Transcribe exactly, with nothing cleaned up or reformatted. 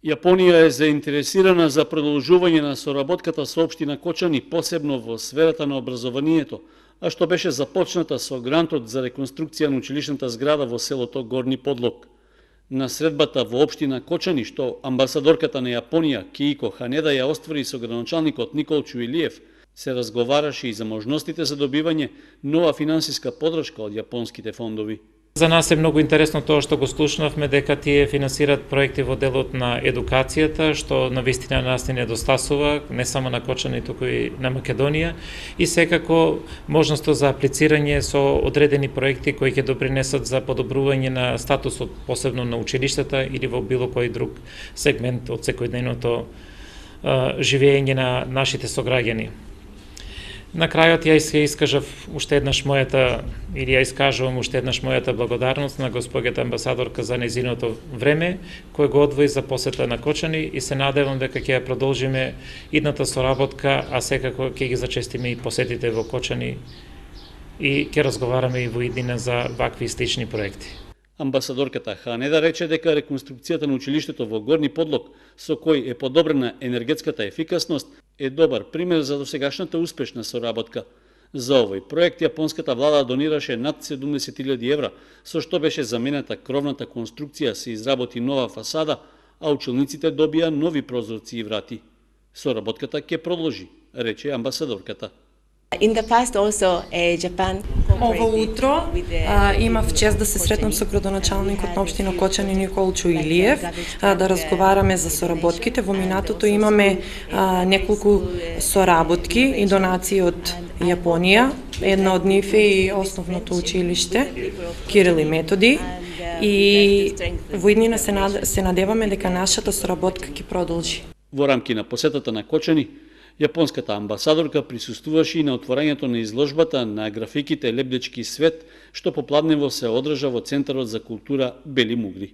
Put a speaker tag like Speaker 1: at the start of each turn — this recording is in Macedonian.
Speaker 1: Јапонија е заинтересирана за продолжување на соработката со општина Кочани, посебно во сферата на образованието, а што беше започната со грантот за реконструкција на училишната зграда во селото Горни Подлог. На средбата во општина Кочани, што амбасадорката на Јапонија Киико Ханеда ја оствари со градоначалникот Никол Чуилиев, се разговараше и за можностите за добивање нова финансиска подршка од јапонските фондови.
Speaker 2: За нас е многу интересно тоа што го слушнавме дека тие финансираат проекти во делот на едукацијата, што навистина нас не недостасува, не само на Кочани, туку и на Македонија, и секако можноста за аплицирање со одредени проекти кои ќе допринесат за подобрување на статусот, посебно на училиштата или во било кој друг сегмент од секојдневното живење на нашите сограѓани. На крајот ја искажав уште еднаш мојата, или ја искажувам уште еднаш мојата благодарност на госпоѓата амбасадорка за нејзиното време, кој го одвои за посета на Кочани, и се надевам дека ќе ја продолжиме идната соработка, а секако ќе ги зачестиме и посетите во Кочани и ќе разговараме и во иднина за вакви слични проекти.
Speaker 1: Амбасадорката Ханеда рече дека реконструкцијата на училиштето во Горни Подлог, со кој е подобрена енергетската ефикасност, е добар пример за досегашната успешна соработка. За овој проект јапонската влада донираше над седумдесет илјади евра, со што беше заменета кровната конструкција, се изработи нова фасада, а училниците добија нови прозорци и врати. Соработката ќе продолжи, рече амбасадорката.
Speaker 3: In the past also, uh, Japan
Speaker 4: Ово утро а, имав чест да се сретнам со градоначалникот на општина Кочани Никол Чуилиев, а, да разговараме за соработките. Во минатото имаме а, неколку соработки и донации од Јапонија. Една од нив е и основното училиште Кирил и Методи. И во иднина се, над, се надеваме дека нашата соработка ќе продолжи.
Speaker 1: Во рамки на посетата на Кочани, јапонската амбасадорка присуствуваше и на отворањето на изложбата на графиките Лебдечки свет, што попладнево се одржа во Центарот за култура Бели Мугри.